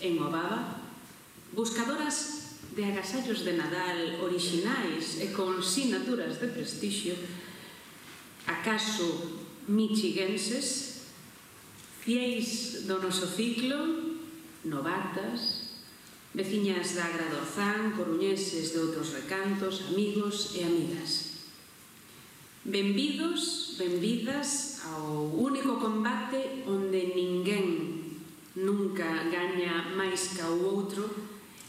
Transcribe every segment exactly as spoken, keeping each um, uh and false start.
en Obaba, buscadoras de agasallos de Nadal orixinais e con sinaturas de prestixio, acaso michiguenses, fieis do noso ciclo, novatas, veciñas da Agra do Orzán, coruñeses de outros recantos, amigos e amigas. Benvidos, benvidas ao único combate onde ninguén nunca gaña máis ca o outro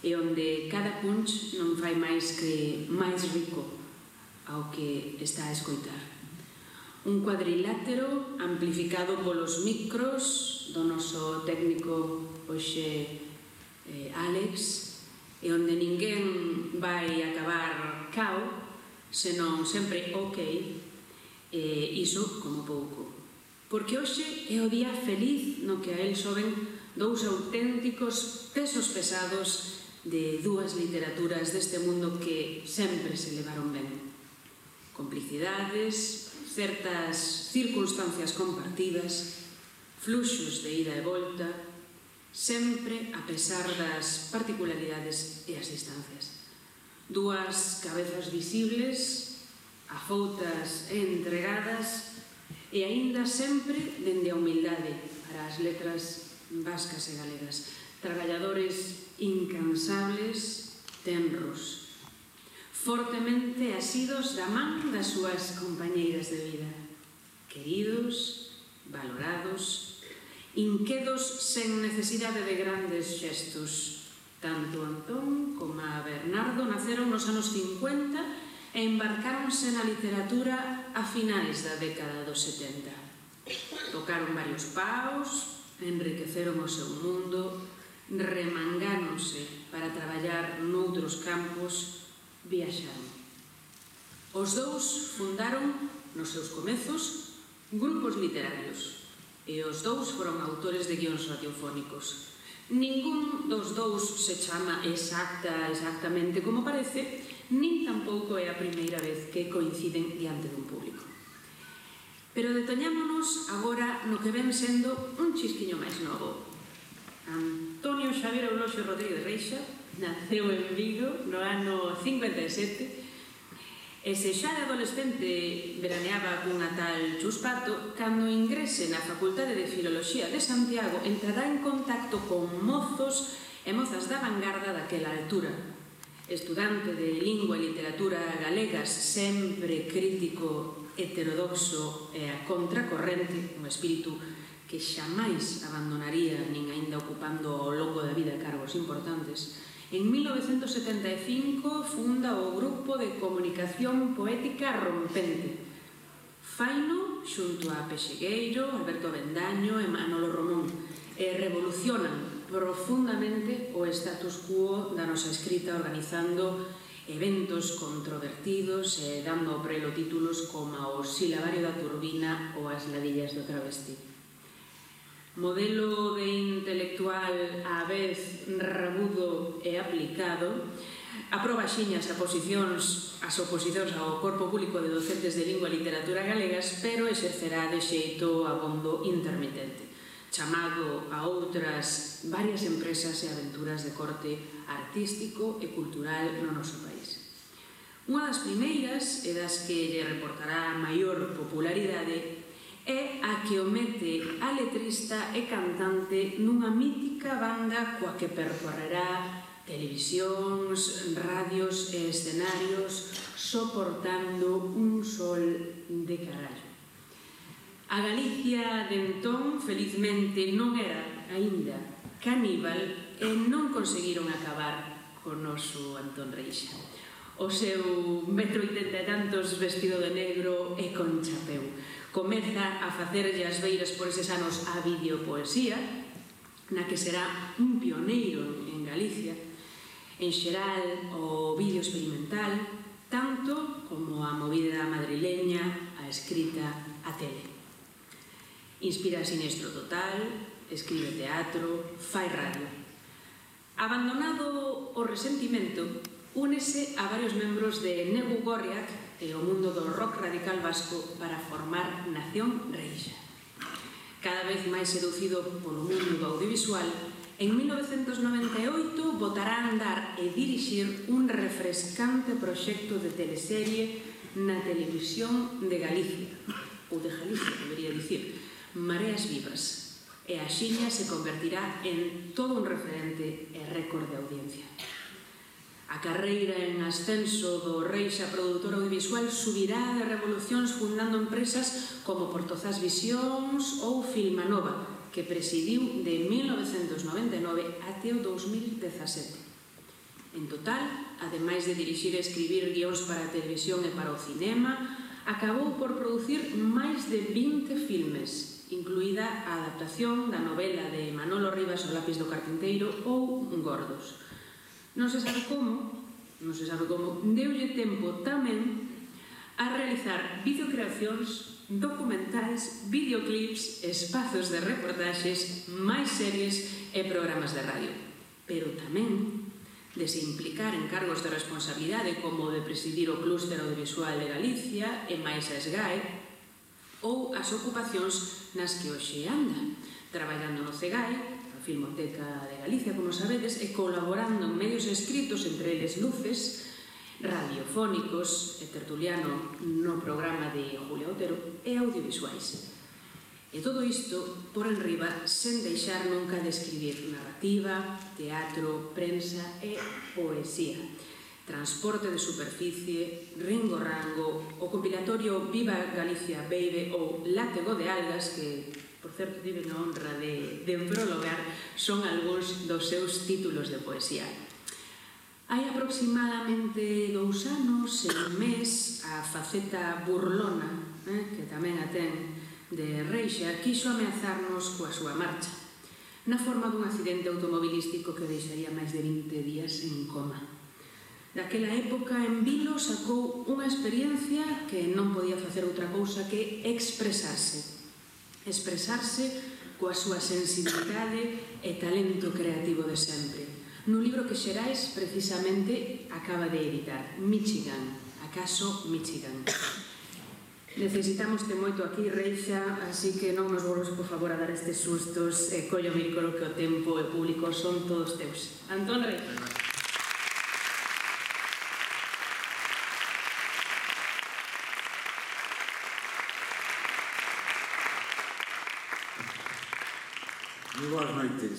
e onde cada punch non fai máis que máis rico ao que está a escoitar. Un cuadrilátero amplificado polos micros do noso técnico hoxe eh, Alex, e onde ninguén vai acabar cao, senón sempre ok, e iso como pouco. Porque hoxe é o día feliz no que a el soben dous auténticos pesos pesados de dúas literaturas deste mundo que sempre se levaron ben. Complicidades, certas circunstancias compartidas, fluxos de ida e volta, sempre a pesar das particularidades e as distancias. Dúas cabezas visibles, afoutas e entregadas, e aínda sempre dende a humildade para as letras vascas e galegas. Traballadores incansables, tenros, fortemente asidos da man das súas compañeiras de vida, queridos, valorados, inquedos sen necesidade de grandes xestos. Tanto Antón como a Bernardo naceron nos anos cincuenta e embarcáronse na literatura a finais da década dos setenta. Tocaron varios paus, enriqueceron o seu mundo, remangáronse para traballar noutros campos, viaxaron. Os dous fundaron, nos seus comezos, grupos literarios, e os dous foron autores de guións radiofónicos. Ningún dos dous se chama exacta, exactamente como parece, nin tampouco é a primeira vez que coinciden diante dun público. Pero detoñámonos agora no que ven sendo un chisquiño máis novo. Antonio Xavier Euloxio Rodríguez Reixa naceu en Vigo no ano cincuenta e sete, e se xa de adolescente veraneaba cunha tal Chuspato, cando ingrese na Facultade de Filoloxía de Santiago entrará en contacto con mozos e mozas da vanguarda daquela altura. Estudante de lingua e literatura galegas, sempre crítico, heterodoxo e a contracorrente, un espírito que xamais abandonaría nin aínda ocupando ao longo da vida cargos importantes. En mil novecentos setenta e cinco funda o Grupo de Comunicación Poética Rompente. Faino xunto a Pexegueiro, Alberto Avendaño e Manolo Romón, e revolucionan profundamente o status quo da nosa escrita, organizando eventos controvertidos e dando ao prelo títulos como o Silabario da Turbina ou As ladillas do travesti. Modelo de intelectual á vez rabudo e aplicado, aproba xiñas a posicións, as oposicións ao corpo público de docentes de lingua e literatura galegas, pero exercerá de xeito abondo intermitente, chamado a outras varias empresas e aventuras de corte artístico e cultural no noso país. Unha das primeiras e das que lle reportará maior popularidade é a que o mete a letrista e cantante nunha mítica banda coa que percorrerá televisións, radios e escenarios soportando un sol de carallo. A Galicia de entón, felizmente, non era aínda caníbal e non conseguiron acabar co noso Antón Reixa. O seu metro oitenta e tantos vestido de negro e con chapeu. Comeza a facerlle as beiras por eses anos a videopoesía, na que será un pioneiro en Galicia, en xeral o vídeo experimental, tanto como a movida madrileña, a escrita, a tele. Inspira Sinestro Total, escribe teatro, fai radio. Abandonado o resentimento, únese a varios membros de Negu Gorriak e o mundo do rock radical vasco para formar Nación Reixa. Cada vez máis seducido polo mundo do audiovisual, En mil novecentos noventa e oito botará a andar e dirixir un refrescante proxecto de teleserie na televisión de Galicia, ou de Galicia, debería dicir, Mareas Vivas, e a xiña se convertirá en todo un referente e récord de audiencia. A carreira en ascenso do Reixa produtor audiovisual subirá de revolucións fundando empresas como Portozás Visións ou Filmanova, que presidiu de mil novecentos noventa e nove até o dous mil dezasete. En total, ademais de dirixir e escribir guións para a televisión e para o cinema, acabou por producir máis de vinte filmes, incluída a adaptación da novela de Manolo Rivas O lápiz do carpinteiro ou Gordos. Non se sabe como, non se sabe como, deulle tempo tamén a realizar videocreacións, documentais, videoclips, espazos de reportaxes, máis series e programas de radio. Pero tamén de se implicar en cargos de responsabilidade como de presidir o Clúster Audiovisual de Galicia e máis a SGAE, ou as ocupacións nas que hoxe anda, traballando no CEGAE, Filmoteca de Galicia, como sabedes, e colaborando en medios escritos, entre eles Luces, radiofónicos e tertuliano no programa de Julia Otero e audiovisuais. E todo isto por enriba sen deixar nunca de escribir narrativa, teatro, prensa e poesía. Transporte de superficie, Ringo Rango, o compilatorio Viva Galicia Baby ou Látego de Algas, que por certo, tiven a honra de, de prologar, son algúns dos seus títulos de poesía. Hai aproximadamente dous anos e un mes, a faceta burlona, eh, que tamén a ten de Reixa, quiso ameazarnos coa súa marcha, na forma dun accidente automobilístico que deixaría máis de vinte días en coma. Daquela época, en Vilo sacou unha experiencia que non podía facer outra cousa que expresarse. expresarse coa súa sensibilidade e talento creativo de sempre. Nun libro que Xerais, precisamente, acaba de editar, Michigan, acaso Michigan. Necesitamos te moito aquí, Reixa, así que non nos volvos, por favor, a dar estes sustos e collo mírcolo que o tempo e o público son todos teus. Antón Reixa. Moi boas noites.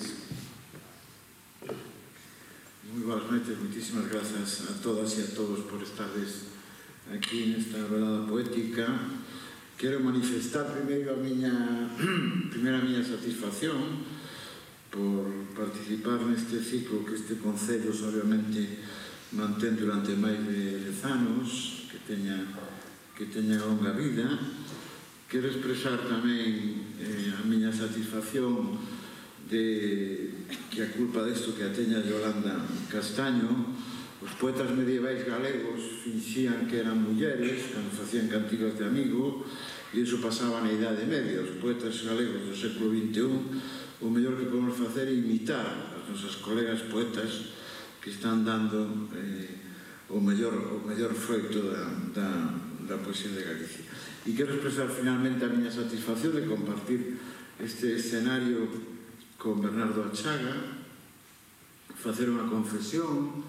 Moi boas noites, moitísimas grazas a todas e a todos por estardes aquí nesta velada poética. Quero manifestar primeiro a miña primeira a miña satisfacción por participar neste ciclo que este Concello obviamente mantén durante máis de dez anos, que teña que teña longa vida. Quero expresar tamén eh, a miña satisfacción de que a culpa desto que a teña Yolanda Castaño, os poetas medievais galegos finxían que eran mulleres cando facían cantigas de amigo, e iso pasaba na Idade Media. Os poetas galegos do século vinte e un, o mellor que podemos facer é imitar as nosas colegas poetas que están dando eh, o mellor o mellor froito da, da, da poesía de Galicia. E quero expresar finalmente a miña satisfacción de compartir este escenario con Bernardo Achaga, facer unha confesión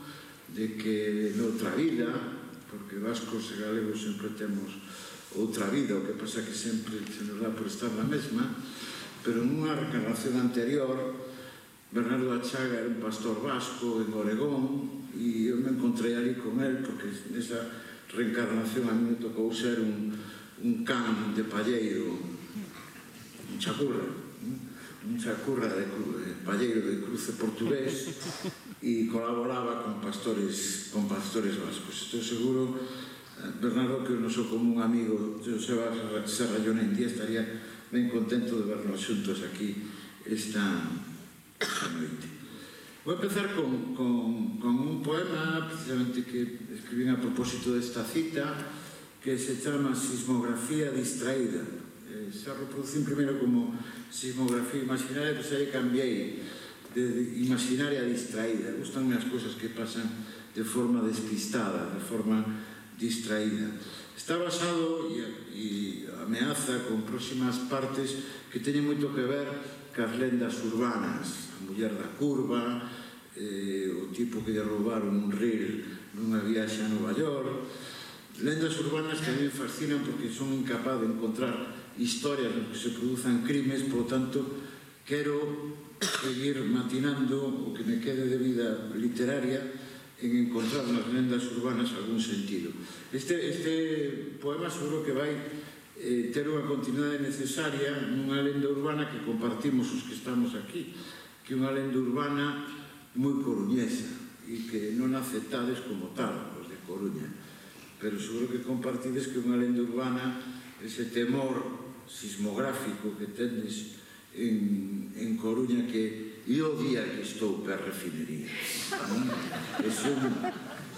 de que noutra vida, porque vascos e galegos sempre temos outra vida, o que pasa que sempre se nos dá por estar na mesma, pero nunha reencarnación anterior, Bernardo Achaga era un pastor vasco en Oregón, e eu me encontrei ali con él, porque nesa reencarnación a mí me tocou ser un, un can de palleiro, un chacurra, un chacurra de, de palleiro de cruce portugués, e colaboraba con pastores con pastores vascos. Estou seguro, Bernardo, que o noso común amigo Joseba Serrallón en día estaría ben contento de vernos xuntos aquí esta, esta noite. Vou empezar con, con, con un poema precisamente que escribín a propósito desta cita, que se chama Sismografía distraída. Eh, se reproducín primeiro como sismografía imaginaria, pois aí cambiei de imaginaria distraída. Gustan as cousas que pasan de forma despistada, de forma distraída. Está basado e ameaza con próximas partes que teñen moito que ver cas lendas urbanas, muller da curva, eh, o tipo que lle roubaron un reel nunha viaxe a Nova York, lendas urbanas que a mí me fascinan porque son incapaz de encontrar historias en que se produzan crimes, por lo tanto, quero seguir matinando o que me quede de vida literaria en encontrar nas lendas urbanas algún sentido. Este, este poema seguro que vai eh, ter unha continuidade necesaria nunha lenda urbana que compartimos os que estamos aquí, que é unha lenda urbana moi coruñesa e que non aceptades como tal, os de Coruña, pero seguro que compartides que é unha lenda urbana, ese temor sismográfico que tendes en, en Coruña, que e o día que estou per refinería. Ese é un,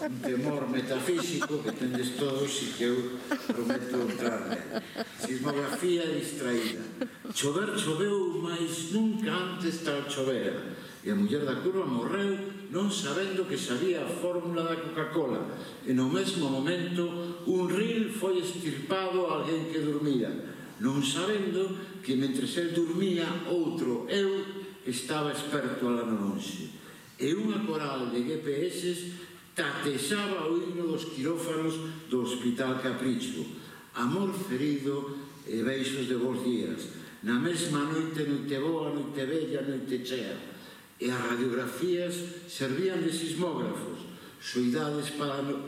un temor metafísico que tendes todos e que eu prometo entrar nel. Sismografía distraída. Chover choveu, mas nunca antes tal chovera. E a muller da curva morreu non sabendo que sabía a fórmula da Coca-Cola. E no mesmo momento un ril foi estirpado a alguén que dormía, non sabendo que mentres el dormía outro, eu, estaba experto alá no lonxe. E unha coral de G P S tatexaba o himno dos quirófanos do Hospital Capricho. Amor ferido e beixos de bons días. Na mesma noite, noite boa, noite bella, noite chea. E as radiografías servían de sismógrafos, soidades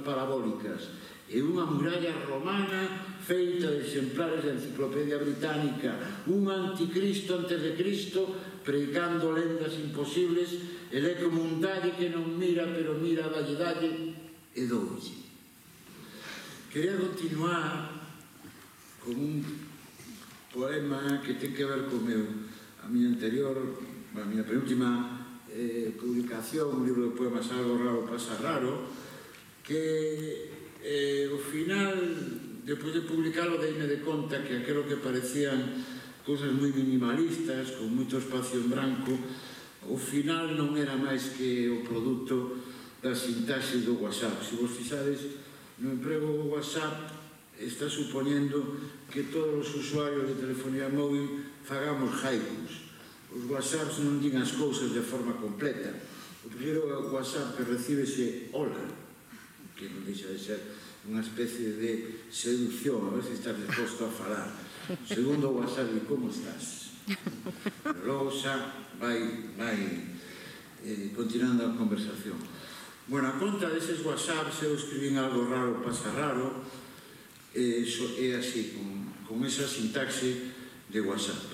parabólicas, e unha muralla romana feita de exemplares da Enciclopedia Británica, un anticristo antes de Cristo predicando lendas imposibles, el é como un dalle que non mira, pero mira, dalle, dalle, e doulle. Quería continuar con un poema que ten que ver co meu, a miña anterior, a miña penúltima eh, publicación, un libro de poemas Algo raro pasa raro, que eh, ao final, despois de publicalo, deime de conta que aquilo que parecían cousas moi minimalistas, con moito espacio en branco, ao final non era máis que o produto da sintaxe do WhatsApp. Se vos fixades no emprego do WhatsApp, está suponiendo que todos os usuarios de telefonía móvil fagamos haikus. Os WhatsApps non din as cousas de forma completa. O primeiro WhatsApp que recibese hola, que non deixa de ser unha especie de seducción, a ver se estás disposto a falar. O segundo WhatsApp, e como estás? Pero logo xa vai, vai eh, continuando a conversación. Bueno, a conta deses WhatsApps, eu escribín Algo raro pasa raro, eh, so, é así, con, con esa sintaxe de WhatsApp.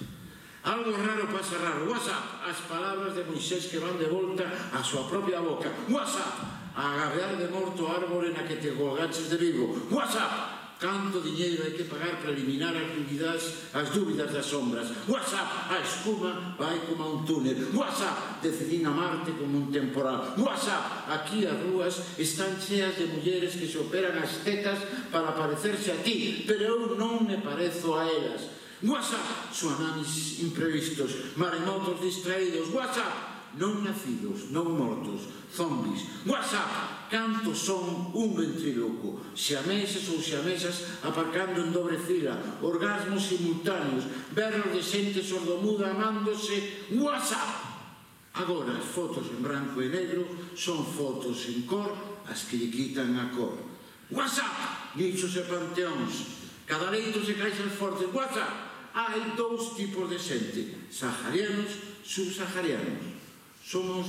Algo raro pasa raro. WhatsApp, as palabras de Moisés que van de volta á súa propia boca. WhatsApp, a agavear de morto árbore na que te colgaches de vivo. WhatsApp, canto diñeiro hai que pagar para eliminar as dúbidas, as dúbidas das sombras. WhatsApp, a espuma vai como a un túnel. WhatsApp, decidín amarte como un temporal. WhatsApp, aquí as rúas están cheas de mulleres que se operan as tetas para parecerse a ti, pero eu non me parezo a elas. WhatsApp, tsunamis imprevistos, maremotos distraídos. WhatsApp, non nacidos, non mortos, zombis. WhatsApp, cantos son un ventríloco, xameses ou xamesas aparcando en dobre fila, orgasmos simultáneos, berros de xente sordomuda amándose. WhatsApp, agora as fotos en branco e negro son fotos en cor as que lle quitan a cor. WhatsApp, nichos e panteóns, cada leito se caixas fortes. WhatsApp, hai dous tipos de xente, saharianos, subsaharianos. Somos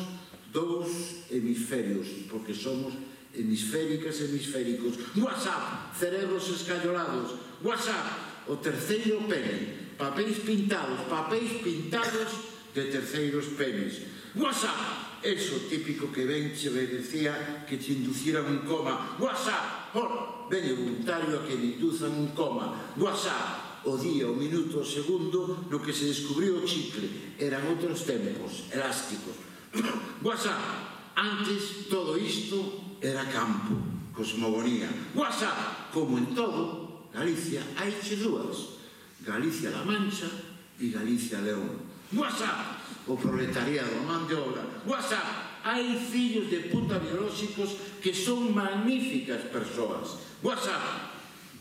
dous hemisferios, porque somos hemisféricas e hemisféricos. WhatsApp, cerebros escallolados. WhatsApp, o terceiro pene, papéis pintados, papéis pintados de terceiros penes. WhatsApp, eso típico que ven che decía que te induciran un coma. WhatsApp, oh, ven o voluntario a que me induzan un coma. WhatsApp, o día, o minuto, o segundo no que se descubriu o chicle. Eran outros tempos, elásticos. WhatsApp, antes todo isto era campo, cosmogonía. WhatsApp, como en todo, Galicia hai che dúas, Galicia-La Mancha e Galicia-León. WhatsApp, o proletariado, a man de obra. WhatsApp, hai fillos de puta biolóxicos que son magníficas persoas. WhatsApp,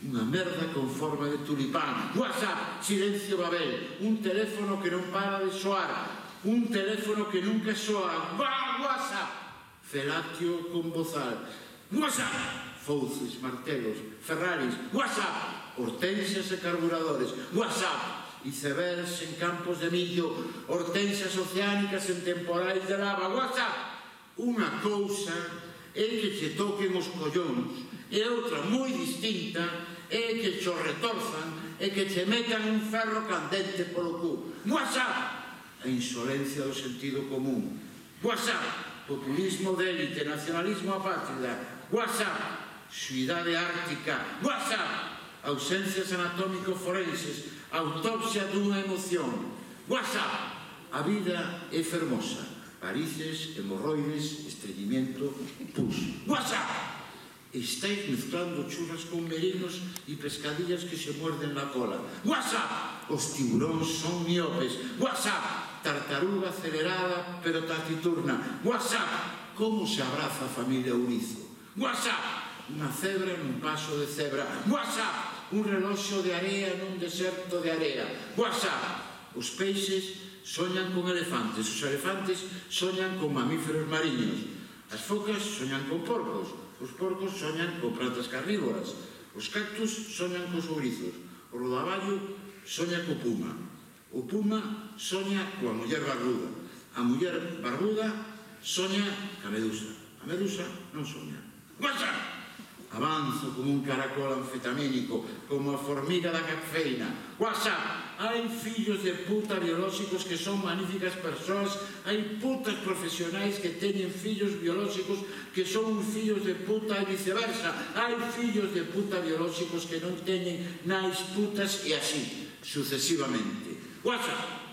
unha merda con forma de tulipán. WhatsApp, silencio Babel, un teléfono que non para de soar. un teléfono que nunca soa, WhatsApp, felatio con bozal, WhatsApp, fouces, martelos, Ferraris, WhatsApp, hortensias e carburadores, WhatsApp, icebergs en campos de millo, hortensias oceánicas en temporais de lava, WhatsApp. Unha cousa é que che toquen os collóns e outra moi distinta é que cho retorzan e que che metan un ferro candente polo cu. WhatsApp. A insolencia do sentido común. WhatsApp. Populismo de élite, nacionalismo apátrida. WhatsApp. Suidade ártica. WhatsApp. Ausencias anatómico-forenses. Autopsia dunha emoción. WhatsApp. A vida é fermosa. Varices, hemorroides, estreñimiento, pus. WhatsApp. Estáis mezclando churras con merinos e pescadillas que se muerden na cola. WhatsApp. Os tiburóns son miopes. WhatsApp. Tartaruga acelerada pero taciturna. WhatsApp. Como se abraza a familia Urizo. WhatsApp. Unha cebra nun paso de cebra. WhatsApp. Un reloxo de area nun deserto de area. WhatsApp. Os peixes soñan con elefantes, os elefantes soñan con mamíferos mariños, as focas soñan con porcos, os porcos soñan con plantas carnívoras, os cactus soñan cos ourizos, o rodaballo soña co puma, o puma soña coa muller barbuda, a muller barbuda soña ca medusa, a medusa non soña. WhatsApp. Avanzo como un caracol anfetamínico, como a formiga da cafeína. WhatsApp. Hai fillos de puta biolóxicos que son magníficas persoas, hai putas profesionais que teñen fillos biolóxicos que son uns fillos de puta e viceversa. Hai fillos de puta biolóxicos que non teñen nais putas e así, sucesivamente. WhatsApp.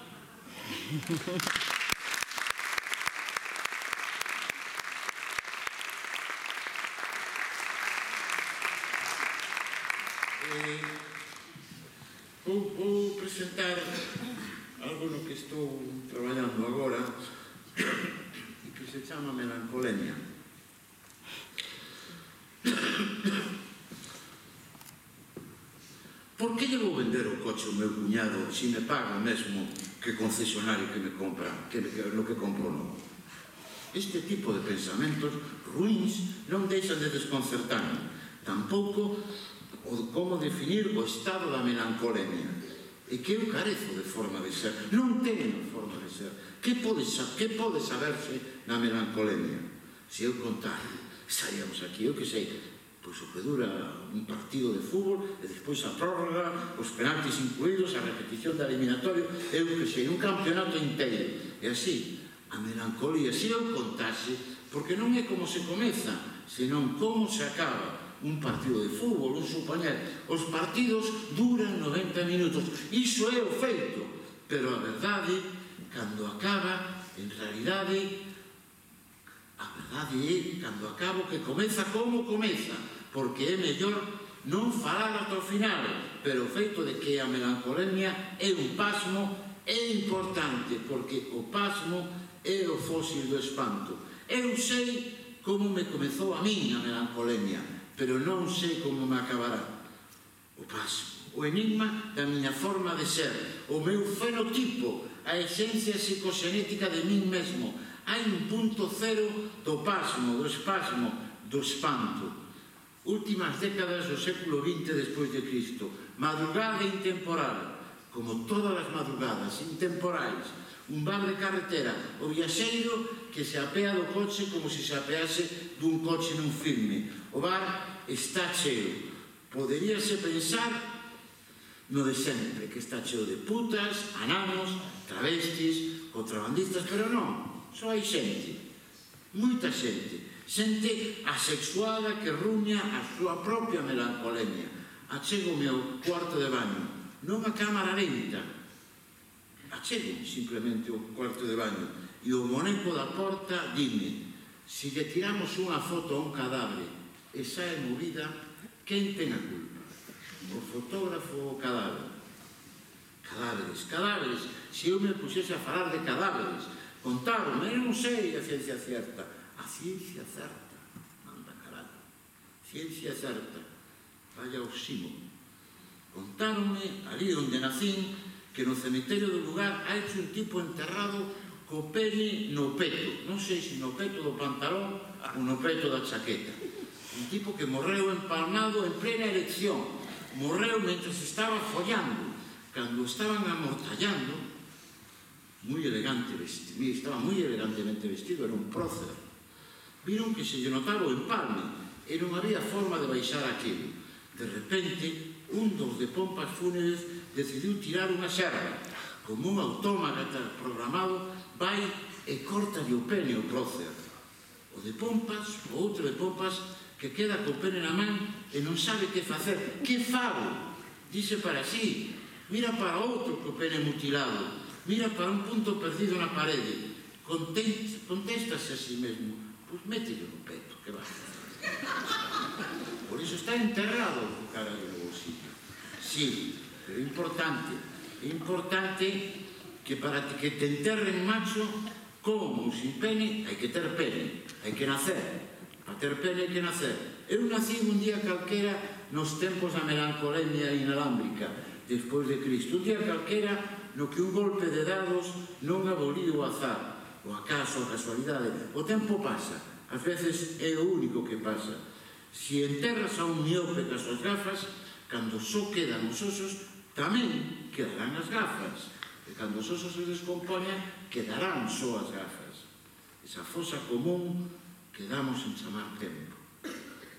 Vou, vou presentar algo no que estou traballando agora e que se chama melancolemia. Por que lle vou vender o coche ao meu cuñado se me paga mesmo que concesionario que me compra, que, que, no que compro novo? Este tipo de pensamentos ruins non deixan de desconcertarme. Tampouco o como definir o estado da melancolemia. E que eu carezo de forma de ser. Non teño forma de ser. Que pode, que pode saberse na melancolemia? Se eu contar, estaríamos aquí, eu que sei, pois o que dura un partido de fútbol e despois a prórroga, os penaltis incluídos, a repetición da eliminatoria, eu que sei, un campeonato inteiro. E así, a melancolía, se eu contase, porque non é como se comeza, senón como se acaba un partido de fútbol, un supoñer. Os partidos duran noventa minutos. Iso é o feito. Pero a verdade, cando acaba, en realidade, a verdade é, cando acaba, que comeza como comeza. Porque é mellor non falar ata o final. Pero o feito de que a melancolemia é un pasmo é importante, porque o pasmo é o fósil do espanto. Eu sei como me comezou a miña melancolemia, pero non sei como me acabará. O pasmo, o enigma da miña forma de ser, o meu fenotipo, a esencia psicoxenética de min mesmo. Hai un punto cero do pasmo, do espasmo, do espanto. Últimas décadas do século vinte despois de Cristo. Madrugada intemporal, como todas as madrugadas intemporais. Un bar de carretera, o viaxeiro que se apea do coche como se se apease dun coche nun filme. O bar está cheo. Poderíase pensar no de sempre, que está cheo de putas, ananos, travestis, contrabandistas, pero non, só hai xente, moita xente, xente asexuada que ruña a súa propia melancolemia. Achego-me ao cuarto de baño, non a cámara lenta, achego simplemente o cuarto de baño e o moneco da porta dime: se lle tiramos unha foto a un cadáver e sae movida, quen ten a culpa? O fotógrafo ou o cadáver? Cadáveres, cadáveres. Se eu me puxese a falar de cadáveres, contaron, eu non sei a ciencia certa. A ciencia certa, manda caralho. Ciencia certa, vaya oxímono. Contáronme, ali onde nacín, que no cemiterio do lugar ha hecho un tipo enterrado co pene no peto, non sei se no peto do pantalón ou no peto da chaqueta. Un tipo que morreu empalmado en plena elección, morreu mentre se estaba follando, cando estaban amortallando, moi elegante vestido, estaba moi elegantemente vestido, era un prócer. Viron que se lle notaba o empalme e non había forma de baixar aquilo. De repente, un dos de pompas fúnebres decidiu tirar unha serra. Como un autómata programado, vai e corta o pene o prócer. O de pompas, o outro de pompas, que queda co pene na man e non sabe que facer. Que fago? Dice para sí, mira para outro co pene mutilado, mira para un punto perdido na parede. Contéstase a sí mesmo, pois mételo no peto, que vai. Por iso está enterrado co cara do bolsillo. Sí, pero é importante, é importante que para que te enterren macho, como sin pene, hai que ter pene, hai que nacer. Para ter pene hai que nacer. Eu nací un día calquera nos tempos da melancolemia inalámbrica, despois de Cristo. Un día calquera no que un golpe de dados non aboliu o azar, o acaso, a casualidade. O tempo pasa, ás veces é o único que pasa. Se enterras a un miope cas súas gafas, cando só quedan os osos, tamén quedarán as gafas. E cando os osos se descompoñan, quedarán só as gafas. Esa fosa común que damos en chamar tempo.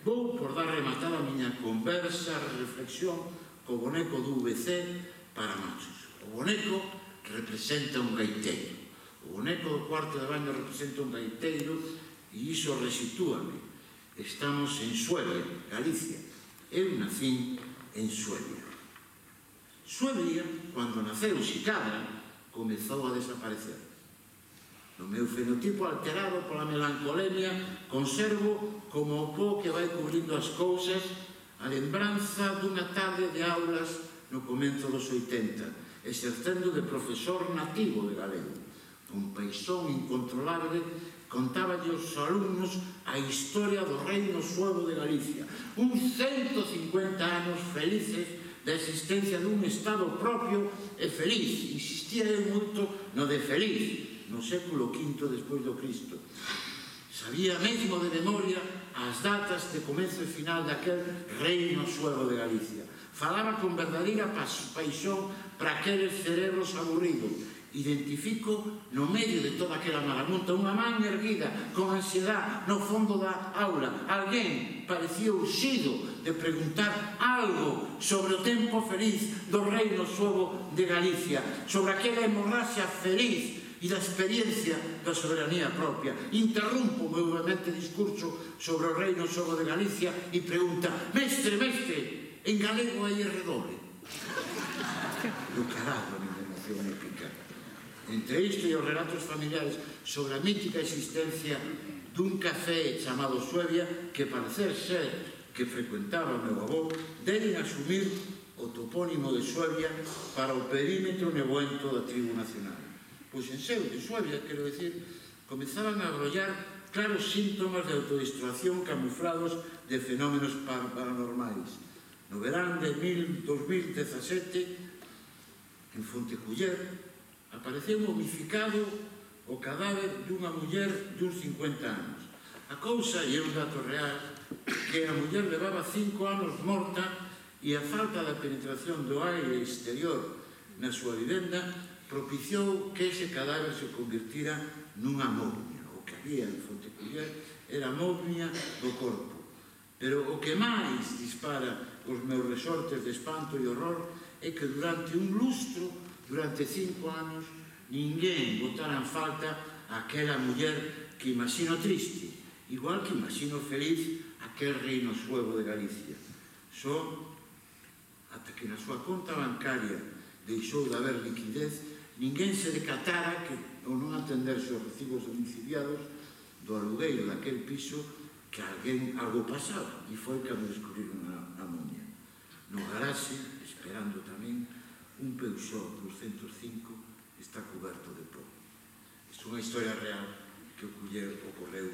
Vou por dar rematada a miña conversa, reflexión, co boneco do V C para machos. O boneco representa un gaiteiro. O boneco do cuarto de baño representa un gaiteiro e iso resitúame. Estamos en Suelia, Galicia. Eu nacín en Suelia. Suelia, cando naceu Xicabra, comezou a desaparecer. No meu fenotipo alterado pola melancolemia, conservo como o pó que vai cubrindo as cousas a lembranza dunha tarde de aulas no comenzo dos oitenta, exercendo de profesor nativo de galego. Un paixón incontrolable contáballe aos alumnos a historia do reino suevo de Galicia. Uns ciento cincuenta anos felices da existencia dun estado propio e feliz. Insistía eu moito no de feliz, no século quinto despois do Cristo. Sabía mesmo de memoria as datas de comezo e final daquel reino suevo de Galicia. Falaba con verdadeira paixón para aqueles cerebros aburridos. Identifico no medio de toda aquela marabunta unha man erguida con ansiedade no fondo da aula. Alguén parecía urxido de preguntar algo sobre o tempo feliz do reino suevo de Galicia, sobre aquela hemorraxia feliz e da experiencia da soberanía propia. Interrumpo o meu vehemente discurso sobre o reino suevo de Galicia e pregunta: mestre, mestre, en galego hai redoble? Do caralho, a minha emoción épica. Entre isto e os relatos familiares sobre a mítica existencia dun café chamado Suevia que parecer ser que frecuentaba o meu avó, deben asumir o topónimo de Suevia para o perímetro nebuento da tribu nacional. Pois en seu de Suevia, quero dicir, comezaban a abrollar claros síntomas de autodestrucción camuflados de fenómenos paranormais. No verán de dos mil dezasete, en Fonteculler, apareceu momificado o cadáver dunha muller duns cincuenta anos. A cousa, e é un dato real, que a muller levaba cinco anos morta e a falta da penetración do aire exterior na súa vivenda propiciou que ese cadáver se convirtira nunha momia. O que había en Fonteculler era momia do corpo. Pero o que máis dispara os meus resortes de espanto e horror é que durante un lustro, durante cinco anos, ninguén botara en falta aquela muller que imagino triste, igual que imagino feliz aquel reino suevo de Galicia. Só ata que na súa conta bancaria deixou de haber liquidez, ninguén se decatara que, ou non atenderse os recibos domiciliados do alugueiro daquel piso, que alguén algo pasaba, e foi cando descubriron a momia. No garaxe, esperando tamén, un Peugeot doscientos cinco está cuberto de pó. É unha historia real que ocorreu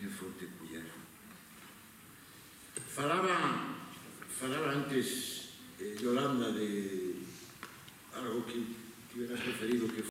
en Fonteculler. Falaba, falaba antes, eh, Yolanda, de algo que hubieras preferido que